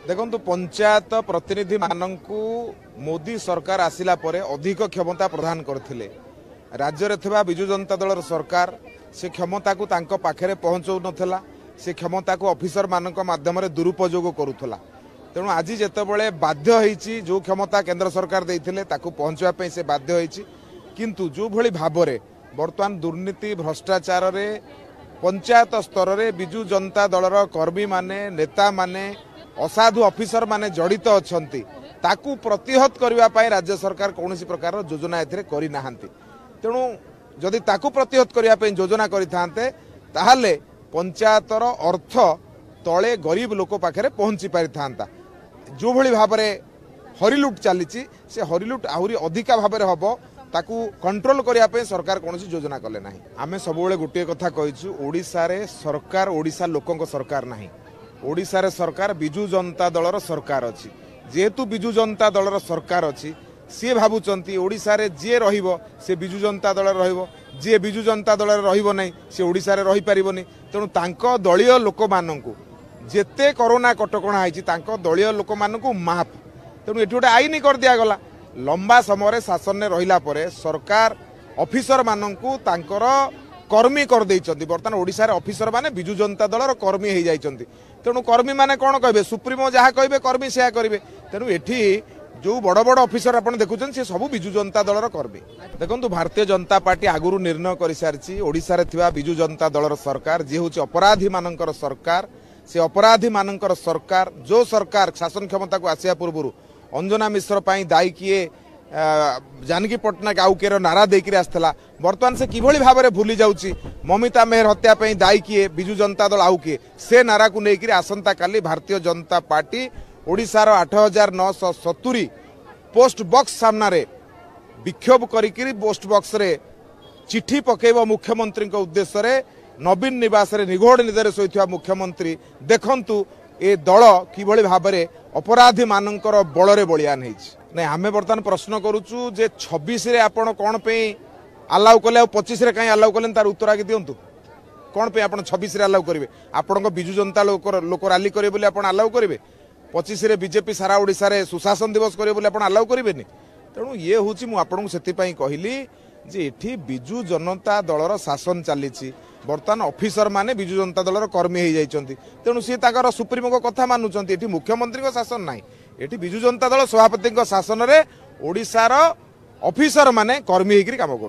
ଦେଖନ୍ତୁ, ପଞ୍ଚାୟତ ପ୍ରତିନିଧିମାନଙ୍କୁ ମୋଦି ସରକାର ଆସିଲା ପରେ ଅଧିକ କ୍ଷମତା ପ୍ରଦାନ କରିଥିଲେ। ରାଜ୍ୟରେ ଥିବା ବିଜୁ ଜନତା ଦଳର ସରକାର ସେ କ୍ଷମତାକୁ ତାଙ୍କ ପାଖରେ ପହଞ୍ଚାଉନଥିଲା, ସେ କ୍ଷମତାକୁ ଅଫିସରମାନଙ୍କ ମାଧ୍ୟମରେ ଦୁରୁପଯୋଗ କରୁଥିଲା। ତେଣୁ ଆଜି ଯେତେବେଳେ ବାଧ୍ୟ ହେଇଛି, ଯେଉଁ କ୍ଷମତା କେନ୍ଦ୍ର ସରକାର ଦେଇଥିଲେ ତାକୁ ପହଞ୍ଚିବା ପାଇଁ ସେ ବାଧ୍ୟ ହେଇଛି। କିନ୍ତୁ ଯେଉଁଭଳି ଭାବରେ ବର୍ତ୍ତମାନ ଦୁର୍ନୀତି ଭ୍ରଷ୍ଟାଚାରରେ ପଞ୍ଚାୟତ ସ୍ତରରେ ବିଜୁ ଜନତା ଦଳର କର୍ମୀମାନେ, ନେତାମାନେ, ଅସାଧୁ ଅଫିସରମାନେ ଜଡ଼ିତ ଅଛନ୍ତି, ତାକୁ ପ୍ରତିହତ କରିବା ପାଇଁ ରାଜ୍ୟ ସରକାର କୌଣସି ପ୍ରକାରର ଯୋଜନା ଏଥିରେ କରିନାହାନ୍ତି। ତେଣୁ ଯଦି ତାକୁ ପ୍ରତିହତ କରିବା ପାଇଁ ଯୋଜନା କରିଥାନ୍ତେ, ତାହେଲେ ପଞ୍ଚାୟତର ଅର୍ଥ ତଳେ ଗରିବ ଲୋକ ପାଖରେ ପହଞ୍ଚି ପାରିଥାନ୍ତା। ଯେଉଁଭଳି ଭାବରେ ହରିଲୁଟ ଚାଲିଛି, ସେ ହରିଲୁଟ ଆହୁରି ଅଧିକା ଭାବରେ ହେବ, ତାକୁ କଣ୍ଟ୍ରୋଲ କରିବା ପାଇଁ ସରକାର କୌଣସି ଯୋଜନା କଲେ ନାହିଁ। ଆମେ ସବୁବେଳେ ଗୋଟିଏ କଥା କହିଛୁ, ଓଡ଼ିଶାରେ ସରକାର ଓଡ଼ିଶା ଲୋକଙ୍କ ସରକାର ନାହିଁ, ଓଡ଼ିଶାରେ ସରକାର ବିଜୁ ଜନତା ଦଳର ସରକାର ଅଛି। ଯେହେତୁ ବିଜୁ ଜନତା ଦଳର ସରକାର ଅଛି, ସିଏ ଭାବୁଛନ୍ତି ଓଡ଼ିଶାରେ ଯିଏ ରହିବ ସେ ବିଜୁ ଜନତା ଦଳରେ ରହିବ, ଯିଏ ବିଜୁ ଜନତା ଦଳରେ ରହିବ ନାହିଁ ସେ ଓଡ଼ିଶାରେ ରହିପାରିବନି। ତେଣୁ ତାଙ୍କ ଦଳୀୟ ଲୋକମାନଙ୍କୁ ଯେତେ କରୋନା କଟକଣା ହେଇଛି, ତାଙ୍କ ଦଳୀୟ ଲୋକମାନଙ୍କୁ ମାଫ। ତେଣୁ ଏଠି ଗୋଟେ ଆଇନ କରିଦିଆଗଲା। ଲମ୍ବା ସମୟରେ ଶାସନରେ ରହିଲା ପରେ ସରକାର ଅଫିସରମାନଙ୍କୁ ତାଙ୍କର କର୍ମୀ କରିଦେଇଛନ୍ତି। ବର୍ତ୍ତମାନ ଓଡ଼ିଶାରେ ଅଫିସରମାନେ ବିଜୁ ଜନତା ଦଳର କର୍ମୀ ହେଇଯାଇଛନ୍ତି। ତେଣୁ କର୍ମୀମାନେ କ'ଣ କହିବେ? ସୁପ୍ରିମୋ ଯାହା କହିବେ କର୍ମୀ ସେୟା କରିବେ। ତେଣୁ ଏଠି ଯେଉଁ ବଡ଼ ବଡ଼ ଅଫିସର ଆପଣ ଦେଖୁଛନ୍ତି, ସେ ସବୁ ବିଜୁ ଜନତା ଦଳର କର୍ମୀ। ଦେଖନ୍ତୁ, ଭାରତୀୟ ଜନତା ପାର୍ଟି ଆଗରୁ ନିର୍ଣ୍ଣୟ କରିସାରିଛି, ଓଡ଼ିଶାରେ ଥିବା ବିଜୁ ଜନତା ଦଳର ସରକାର ଯିଏ ହେଉଛି ଅପରାଧୀମାନଙ୍କର ସରକାର, ସେ ଅପରାଧୀମାନଙ୍କର ସରକାର, ଯେଉଁ ସରକାର ଶାସନ କ୍ଷମତାକୁ ଆସିବା ପୂର୍ବରୁ ଅଞ୍ଜନା ମିଶ୍ର ପାଇଁ ଦାୟୀ କିଏ, ଜାନକୀ ପଟ୍ଟନାୟକ ଆଉ କିଏର ନାରା ଦେଇକିରି ଆସିଥିଲା, ବର୍ତ୍ତମାନ ସେ କିଭଳି ଭାବରେ ଭୁଲି ଯାଉଛି ମମିତା ମେହେର ହତ୍ୟା ପାଇଁ ଦାୟୀ କିଏ, ବିଜୁ ଜନତା ଦଳ ଆଉ କିଏ, ସେ ନାରାକୁ ନେଇକରି ଆସନ୍ତାକାଲି ଭାରତୀୟ ଜନତା ପାର୍ଟି ଓଡ଼ିଶାର 8970 ପୋଷ୍ଟ ବକ୍ସ ସାମ୍ନାରେ ବିକ୍ଷୋଭ କରିକିରି ପୋଷ୍ଟ ବକ୍ସରେ ଚିଠି ପକାଇବ ମୁଖ୍ୟମନ୍ତ୍ରୀଙ୍କ ଉଦ୍ଦେଶ୍ୟରେ। ନବୀନ ନିବାସରେ ନିଘୋଡ଼ ନିଦରେ ଶୋଇଥିବା ମୁଖ୍ୟମନ୍ତ୍ରୀ ଦେଖନ୍ତୁ ଏ ଦଳ କିଭଳି ଭାବରେ ଅପରାଧୀମାନଙ୍କର ବଳରେ ବଳିଆନ ହେଇଛି। ନାଇଁ, ଆମେ ବର୍ତ୍ତମାନ ପ୍ରଶ୍ନ କରୁଛୁ ଯେ 26ରେ ଆପଣ କ'ଣ ପାଇଁ ଆଲାଉ କଲେ ଆଉ 25ରେ କାହିଁ ଆଲାଉ କଲେନି, ତାର ଉତ୍ତର ଆଗେ ଦିଅନ୍ତୁ। କ'ଣ ପାଇଁ ଆପଣ 26ରେ ଆଲାଉ କରିବେ? ଆପଣଙ୍କ ବିଜୁ ଜନତା ଲୋକ ରାଲି କରିବେ ବୋଲି ଆପଣ ଆଲାଉ କରିବେ? 25ରେ ବିଜେପି ସାରା ଓଡ଼ିଶାରେ ସୁଶାସନ ଦିବସ କରିବେ ବୋଲି ଆପଣ ଆଲାଉ କରିବେନି? ତେଣୁ ଇଏ ହେଉଛି, ମୁଁ ଆପଣଙ୍କୁ ସେଥିପାଇଁ କହିଲି ଯେ ଏଠି ବିଜୁ ଜନତା ଦଳର ଶାସନ ଚାଲିଛି। ବର୍ତ୍ତମାନ ଅଫିସରମାନେ ବିଜୁ ଜନତା ଦଳର କର୍ମୀ ହେଇଯାଇଛନ୍ତି, ତେଣୁ ସିଏ ତାଙ୍କର ସୁପ୍ରିମୋଙ୍କ କଥା ମାନୁଛନ୍ତି। ଏଠି ମୁଖ୍ୟମନ୍ତ୍ରୀଙ୍କ ଶାସନ ନାହିଁ, ଏଠି ବିଜୁ ଜନତା ଦଳ ସଭାପତିଙ୍କ ଶାସନରେ ଓଡ଼ିଶାର ଅଫିସରମାନେ କର୍ମୀ ହେଇକରି କାମ କରୁଛନ୍ତି।